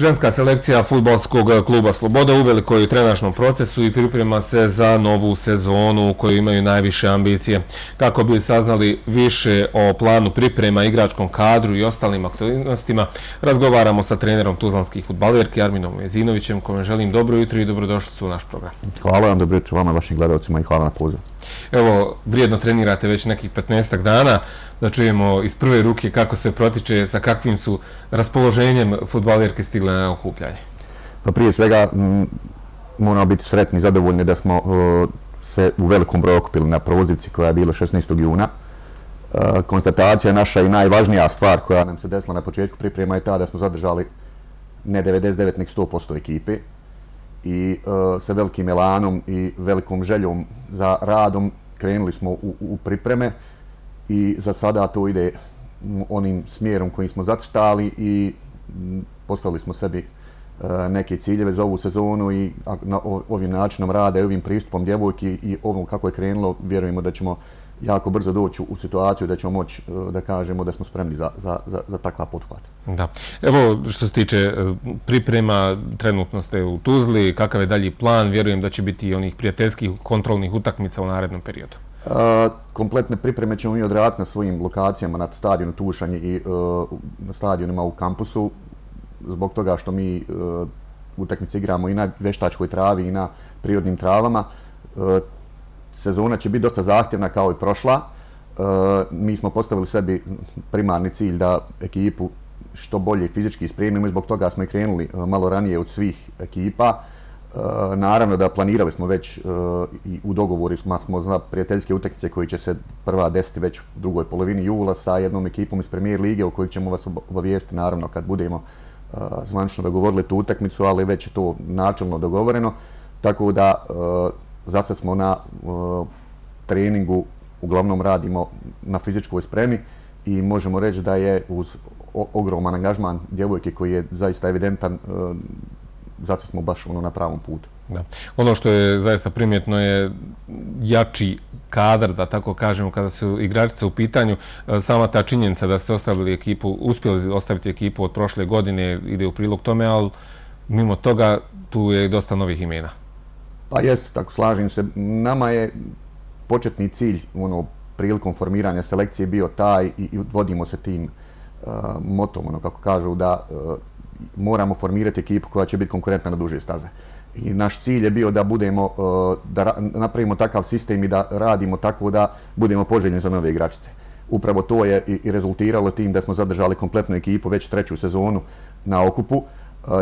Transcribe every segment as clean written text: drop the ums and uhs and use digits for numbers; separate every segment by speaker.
Speaker 1: Ženska selekcija fudbalskog kluba Sloboda u velikoj trenažnom procesu i priprema se za novu sezonu u kojoj imaju najviše ambicije. Kako bi saznali više o planu priprema, igračkom kadru i ostalim aktivnostima, razgovaramo sa trenerom tuzlanskih fudbalerki Arminom Vezinovićem, kome želim dobro jutro i dobrodošlicu u naš program.
Speaker 2: Hvala vam, dobro jutro vama, vašim gledalcima i hvala na pozivu.
Speaker 1: Evo, vrijedno trenirate već nekih 15 dana, da čujemo iz prve ruke kako se protiče, sa kakvim su raspoloženjem fudbalerke stigle na okupljanje.
Speaker 2: Pa prije svega moramo biti sretni i zadovoljni da smo se u velikom broju okupili na prozivci koja je bila 16. juna. Konstatacija naša i najvažnija stvar koja nam se desila na početku priprema je ta da smo zadržali ne 99, nek 100% ekipe i sa velikim elanom i velikom željom za radom krenuli smo u pripreme i za sada to ide onim smjerom kojim smo zacrtali i postavili smo sebi neke ciljeve za ovu sezonu i ovim načinom rada i ovim pristupom djevojki i ovom kako je krenulo, vjerujemo da ćemo jako brzo doći u situaciju da ćemo moći da kažemo da smo spremni za takva pothvat.
Speaker 1: Da. Evo, što se tiče priprema, trenutno ste u Tuzli, kakav je dalji plan? Vjerujem da će biti i onih prijateljskih kontrolnih utakmica u narednom periodu.
Speaker 2: Kompletne pripreme ćemo mi odraditi na svojim lokacijama na stadionu Tušanj i na stadionima u kampusu, zbog toga što mi utakmice igramo i na veštačkoj travi i na prirodnim travama. Sezona će biti dosta zahtjevna kao i prošla. Mi smo postavili sebi primarni cilj da ekipu što bolje fizički spremimo i zbog toga smo i krenuli malo ranije od svih ekipa. Naravno da planirali smo već i u dogovoru smo za prijateljske utakmice koji će se prva desiti već u drugoj polovini jula sa jednom ekipom iz Premier lige u kojoj ćemo vas obavijestiti naravno kad budemo zvanično dogovorili tu utakmicu, ali već je to načelno dogovoreno. Tako da za sad smo na treningu, uglavnom radimo na fizičkoj spremi i možemo reći da je uz ogroman angažman djevojke koji je zaista evidentan, zato smo baš na pravom putu.
Speaker 1: Da. Ono što je zaista primjetno je jači kadar, da tako kažemo, kada su igračice u pitanju. Sama ta činjenica da ste ostavili ekipu, uspjeli ostaviti ekipu od prošle godine ide u prilog tome, ali mimo toga tu je dosta novih imena.
Speaker 2: Pa jeste, tako slažem se. Nama je početni cilj prilikom formiranja selekcije bio taj i vodimo se tim motom, kako kažu, da moramo formirati ekipu koja će biti konkurentna na duže staze. I naš cilj je bio da da napravimo takav sistem i da radimo tako da budemo poželjni za nove igračice. Upravo to je i rezultiralo tim da smo zadržali kompletnu ekipu već treću sezonu na okupu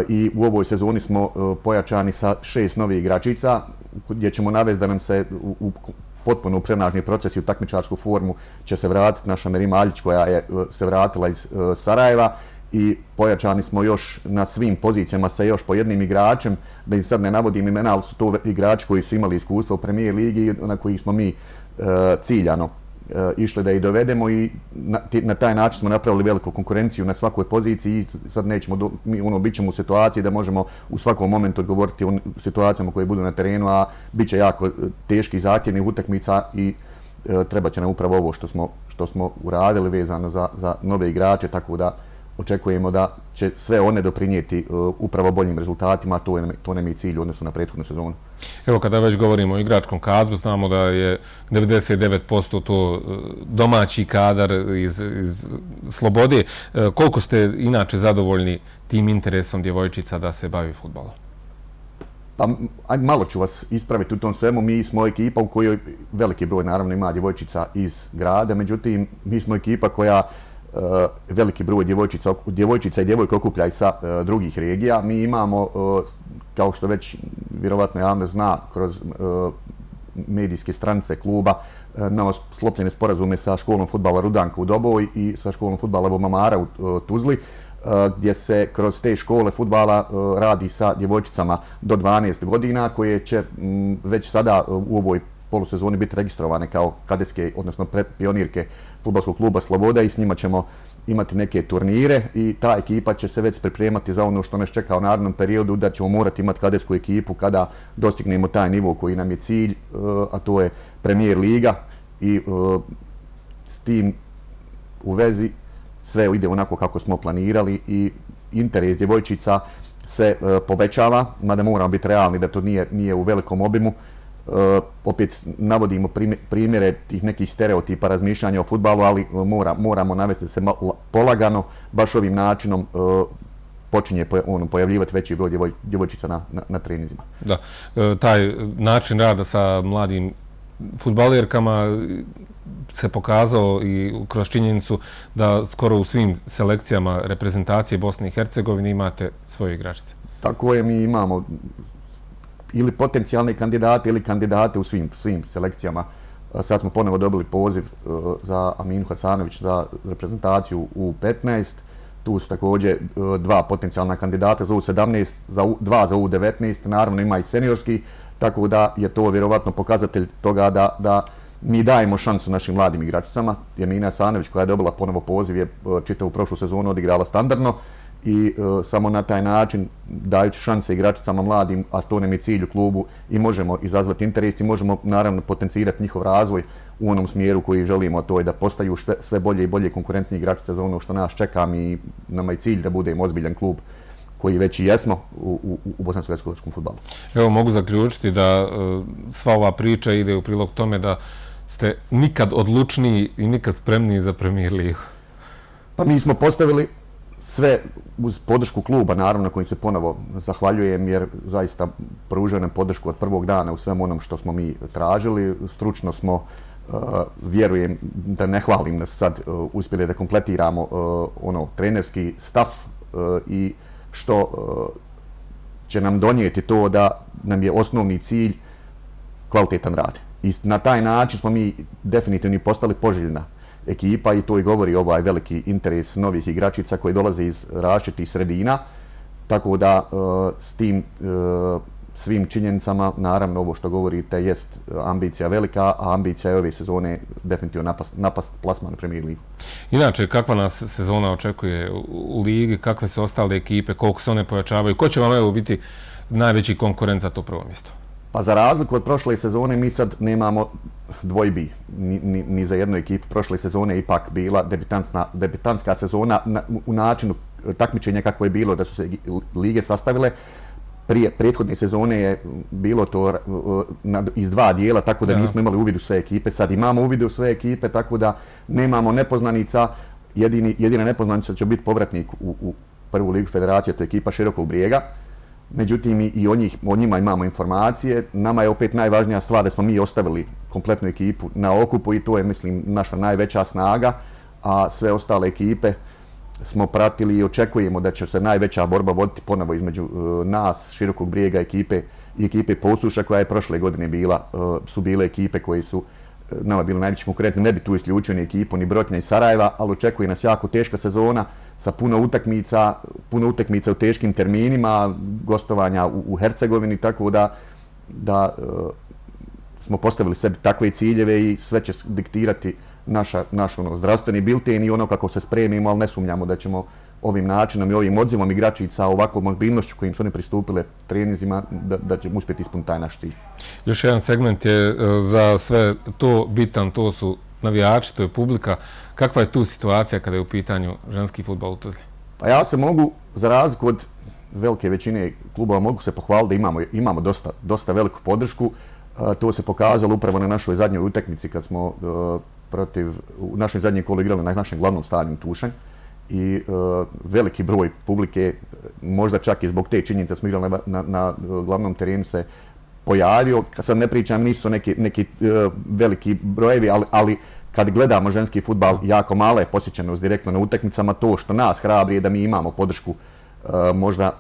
Speaker 2: i u ovoj sezoni smo pojačani sa 6 novih igračica gdje ćemo navesti da nam se u potpuno prenažni proces i u takmičarsku formu će se vratiti naša Merima Aljić koja je se vratila iz Sarajeva i pojačani smo još na svim pozicijama sa još po jednim igračem, da im sad ne navodim imena, ali su to igrači koji su imali iskustva u Premier ligi na kojih smo mi ciljano išli da ih dovedemo i na taj način smo napravili veliku konkurenciju na svakoj poziciji i sad nećemo, bit ćemo u situaciji da možemo u svakom momentu odgovoriti u situacijama koje budu na terenu, a bit će jako teški zahtjevnih utakmica i treba će nam upravo ovo što smo uradili vezano za nove igrače, tako da očekujemo da će sve one doprinijeti upravo boljim rezultatima, a to nam je cilj u odnosu na prethodnu sezonu.
Speaker 1: Evo, kada već govorimo o igračkom kadru, znamo da je 99% to domaći kadar iz Slobode. Koliko ste inače zadovoljni tim interesom djevojčica da se bavi fudbalom?
Speaker 2: Pa, malo ću vas ispraviti u tom svemu. Mi smo ekipa u kojoj veliki broj naravno ima djevojčica iz grada, međutim mi smo ekipa koja veliki broj djevojčica i djevojka okuplja i sa drugih regija. Mi imamo, kao što već vjerovatno javnost zna, kroz medijske stranice kluba, imamo sklopljene sporazume sa školom fudbala Rudanka u Doboj i sa školom fudbala Bobamara u Tuzli, gdje se kroz te škole fudbala radi sa djevojčicama do 12 godina koje će već sada u ovoj polusezoni biti registrovane kao kadetske, odnosno pionirke fudbalskog kluba Sloboda i s njima ćemo imati neke turnire i ta ekipa će se već pripremati za ono što nas čeka u narednom periodu, da ćemo morati imati kadetsku ekipu kada dostignemo taj nivo koji nam je cilj, a to je Premier liga i s tim u vezi sve ide onako kako smo planirali i interes djevojčica se povećava, mada moramo biti realni da to nije u velikom obimu. Opet navodimo primjere tih nekih stereotipa razmišljanja o fudbalu, ali moramo navesti da se polagano, baš ovim načinom počinje pojavljivati veći broj djevojčica na treninzima.
Speaker 1: Da, taj način rada sa mladim fudbalerkama se pokazao i kroz činjenicu da skoro u svim selekcijama reprezentacije Bosne i Hercegovine imate svoje igračice.
Speaker 2: Tako je, mi imamo ili potencijalne kandidate ili kandidate u svim selekcijama. Sad smo ponovo dobili poziv za Aminu Hasanović za reprezentaciju u 15. Tu su također dva potencijalna kandidata za U17, dva za U19, naravno ima i seniorski, tako da je to vjerovatno pokazatelj toga da mi dajemo šansu našim mladim igračicama. Amina Hasanović, koja je dobila ponovo poziv, je čitavu prošlu sezonu odigrala standardno i samo na taj način dajući šanse igračicama mladim, a to nam je cilj u klubu, i možemo izazvati interes i možemo naravno potencirati njihov razvoj u onom smjeru koji želimo, a to je da postaju sve bolje i bolje konkurentni igračice za ono što nas čeka. I nama je cilj da budemo ozbiljan klub koji već i jesmo u bosansko-hercegovačkom fudbalu.
Speaker 1: Evo, mogu zaključiti da sva ova priča ide u prilog tome da ste nikad odlučniji i nikad spremniji za Premier ligu.
Speaker 2: Pa mi smo postavili sve uz podršku kluba, naravno, kojim se ponovo zahvaljujem, jer zaista pružaju nam podršku od prvog dana u svem onom što smo mi tražili. Stručno smo, vjerujem, da ne hvalim nas sad, uspjeli da kompletiramo trenerski staf i što će nam donijeti to da nam je osnovni cilj kvalitetan rad. I na taj način smo mi definitivno postali poželjna ekipa i to i govori ovaj veliki interes novih igračica koji dolaze iz različitih sredina. Tako da s tim svim činjenicama, naravno ovo što govorite jest ambicija velika, a ambicija je ove sezone definitivno napast plasman u Premier ligu.
Speaker 1: Inače, kakva nas sezona očekuje u ligi, kakve su ostale ekipe, koliko se one pojačavaju, ko će vam evo biti najveći konkurent za to prvo mjesto?
Speaker 2: Pa za razliku od prošle sezone mi sad nemamo dvojbi ni za jednu ekipu. Prošle sezone je ipak bila debitantska sezona u načinu takmičenja kako je bilo, da su se lige sastavile. Prije prethodne sezone je bilo to iz dva dijela, tako da nismo imali uvid u sve ekipe. Sad imamo uvid u sve ekipe, tako da nemamo nepoznanica. Jedina nepoznanica će biti povratnik u prvu ligu federacije, to je ekipa Širokog Brijega. Međutim, i o njima imamo informacije. Nama je opet najvažnija stvar da smo mi ostavili kompletnu ekipu na okupu i to je, mislim, naša najveća snaga, a sve ostale ekipe smo pratili i očekujemo da će se najveća borba voditi ponovo između nas, Širokog Brijega i ekipe Posuša, koja je prošle godine su bile ekipe koje su nama bili najveći konkurentni. Ne bi tu isključio ni ekipu, ni Brotnja i Sarajeva, ali očekuje nas jako teška sezona sa puno utakmica u teškim terminima, gostovanja u Hercegovini, tako da smo postavili sebi takve ciljeve i sve će diktirati naš zdravstveni bilten i ono kako se spremimo, ali ne sumnjamo da ćemo ovim načinom i ovim odzivom igračica, ovakvom mobilnošću kojim su one pristupile treninzima, da ćemo uspjeti ispuniti taj naš cilj.
Speaker 1: Još jedan segment je za sve to bitan, to su navijači, to je publika. Kakva je tu situacija kada je u pitanju ženski fudbal u Tuzli?
Speaker 2: Pa ja se mogu, za razliku od velike većine klubova, mogu se pohvaliti da imamo dosta veliku podršku. To se pokazalo upravo na našoj zadnjoj utakmici kad smo u našoj zadnjoj kolu igrali na našem glavnom stadionu Tušanj. I veliki broj publike, možda čak i zbog te činjenice smo igrali na glavnom terenu, se pojavio. Sad ne pričam, nisu to neki veliki brojevi, ali kad gledamo ženski fudbal, jako mala je posjećenost direktno na utakmicama. To što nas hrabri je da mi imamo podršku možda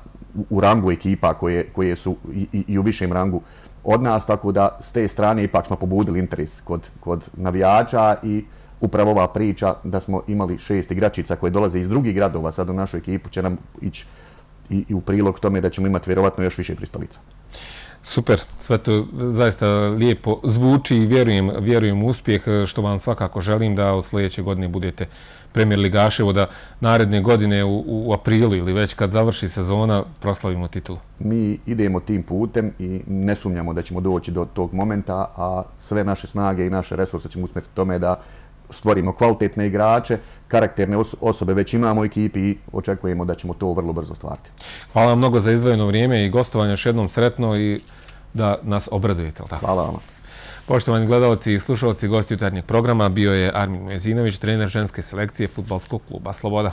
Speaker 2: u rangu ekipa koje su i u višem rangu od nas, tako da s te strane ipak smo pobudili interes kod navijača i upravo ova priča da smo imali 6 igračica koje dolaze iz drugih gradova sad u našu ekipu će nam ići i u prilog tome da ćemo imati vjerovatno još više pristalica.
Speaker 1: Super, sve to zaista lijepo zvuči i vjerujem u uspjeh, što vam svakako želim da od sljedeće godine budete Premier ligaševo, da naredne godine u aprilu ili već kad završi sezona proslavimo titulu.
Speaker 2: Mi idemo tim putem i ne sumnjamo da ćemo doći do tog momenta, a sve naše snage i naše resurse ćemo usmjeriti tome da stvorimo kvalitetne igrače, karakterne osobe već imamo u ekipi i očekujemo da ćemo to vrlo brzo ostvariti.
Speaker 1: Hvala vam mnogo za izdvojeno vrijeme i gostovanje, još jednom sretno i da nas obradujete.
Speaker 2: Hvala vam.
Speaker 1: Poštovani gledalci i slušalci, gosti jutarnjeg programa bio je Armin Mezinović, trener ženske selekcije Fudbalskog kluba Sloboda.